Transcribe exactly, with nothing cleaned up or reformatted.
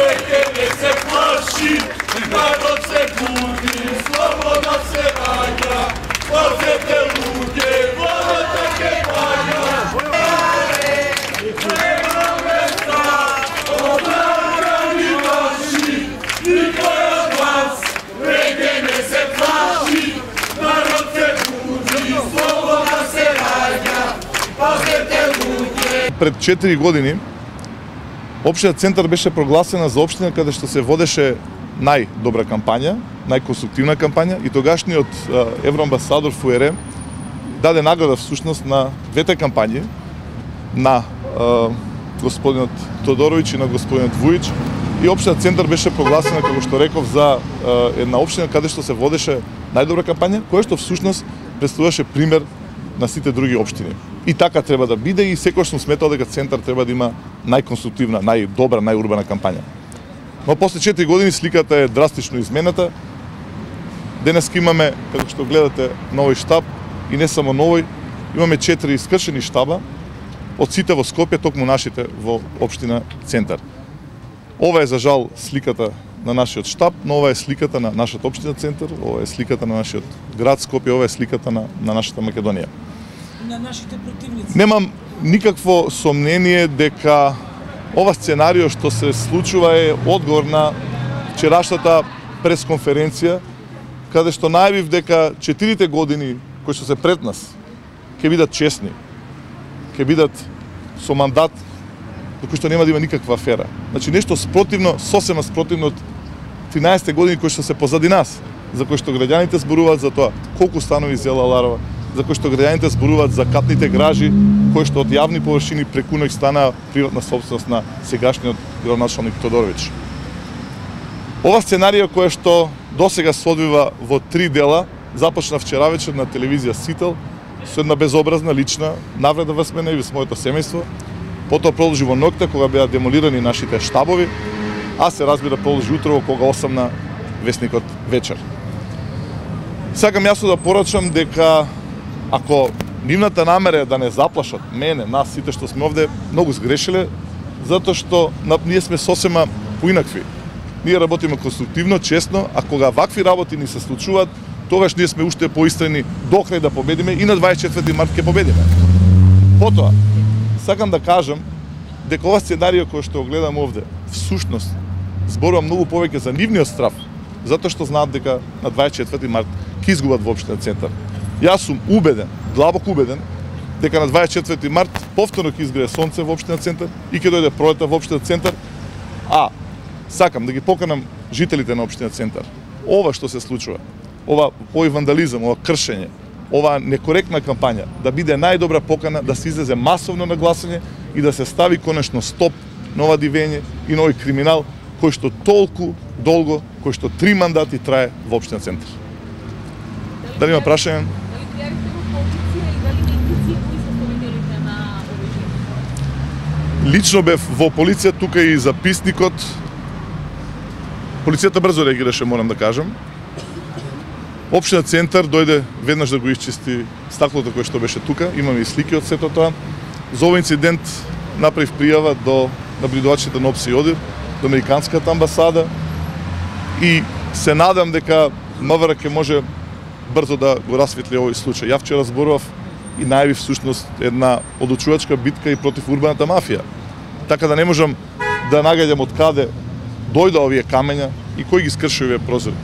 Веќе не се плаши, народ се буди, слобода се раѓа. Пазете луѓе, водата ке паѓа. Нема места, одрагани ваши, никој од вас веќе не се плаши, народ се буди, слобода се раѓа. Пазете луѓе. Пред четири години Општина Центар беше прогласена за општина каде што се водеше најдобра кампања, најконструктивна кампања и тогашниот евроамбасадор Фуере даде награда всушност на двете кампањи, на е, господинот Тодоровиќ и на господинот Вујич, и Општина Центар беше прогласена, како што реков, за е, една општина каде што се водеше најдобра кампања, која што всушност представуваше пример на сите други општини. И така треба да биде, и секогаш сум сметал дека Центар треба да има најконструктивна, најдобра, најурбана кампања. Но после четири години сликата е драстично измената. Денес имаме, како што гледате, новој штаб, и не само новој, имаме четири искршени штаба од сите во Скопје, токму нашите во општина Центар. Ова е за жал сликата на нашиот штаб, но ова е сликата на нашата општина Центар, ова е сликата на нашиот град Скопје, ова е сликата на, на нашата Македонија. На нашите противници. Немам никакво сомнение дека ова сценарио што се случува е одговор на вчерашната пресконференција, каде што најавив дека четирите години кои што се пред нас ќе бидат честни, ќе бидат со мандат до кој што нема да има никаква афера. Значи нешто спротивно, сосема спротивно од тринаесетте години кои што се позади нас, за кои што граѓаните зборуваат за тоа колку станови зела Ларова, за кои што граѓаните зборуваат за катните гражи, кои што од јавни површини преку ноќ станаа приватна собственост на сегашниот градоначалник Тодоровиќ. Ова сценарија која што досега се одвива во три дела, започна вчера вечер на телевизија Сител, со една безобразна лична навреда врз мене и врз моето семејство. Потоа продолжи во ноќта кога беа демолирани нашите штабови, а се разбира продолжи утрово кога осамна весникот вечер. Сакам јасно да порачам дека ако нивната намера е да не заплашат мене, нас сите што сме овде, многу сгрешиле, затоа што ние сме сосема поинакви. Ние работиме конструктивно, честно, а кога вакви работи ни се случуваат, тогаш ние сме уште поистрени до крај да победиме и на дваесет и четврти март ќе победиме. Потоа, сакам да кажам дека ова сценарио кој што го гледам овде, всушност, зборува многу повеќе за нивниот страф, затоа што знаат дека на дваесет и четврти март ќе изгубат во општина Центар. Јас сум убеден, длабоко убеден, дека на дваесет и четврти март повторно ќе изгрее сонце во општина Центар и ќе дојде пролета во општина Центар. А сакам да ги поканам жителите на општина Центар. Ова што се случува, ова овој вандализам, ова кршење, ова некоректна кампања, да биде најдобра покана да се излезе масовно на гласање и да се стави конечно стоп на ова дивење и на овој криминал кој што толку долго, кој што три мандати трае во општина Центар. Дали има прашање? Лично бев во полиција, тука и записникот. Полицијата брзо реагираше, морам да кажам. Општина Центар дојде веднаш да го исчисти стаклото кое што беше тука. Имаме и слики од сето тоа. За овој инцидент направив пријава до наблюдувачите на ОПСИ и ОДИР, до Американската амбасада, и се надам дека МВР ќе може брзо да го расветли овој случај. Ја вчера зборував и најавив всушност една одлучувачка битка и против урбаната мафија. Така да не можам да нагаѓам од каде дојда овие камења и кој ги скрши овие прозори.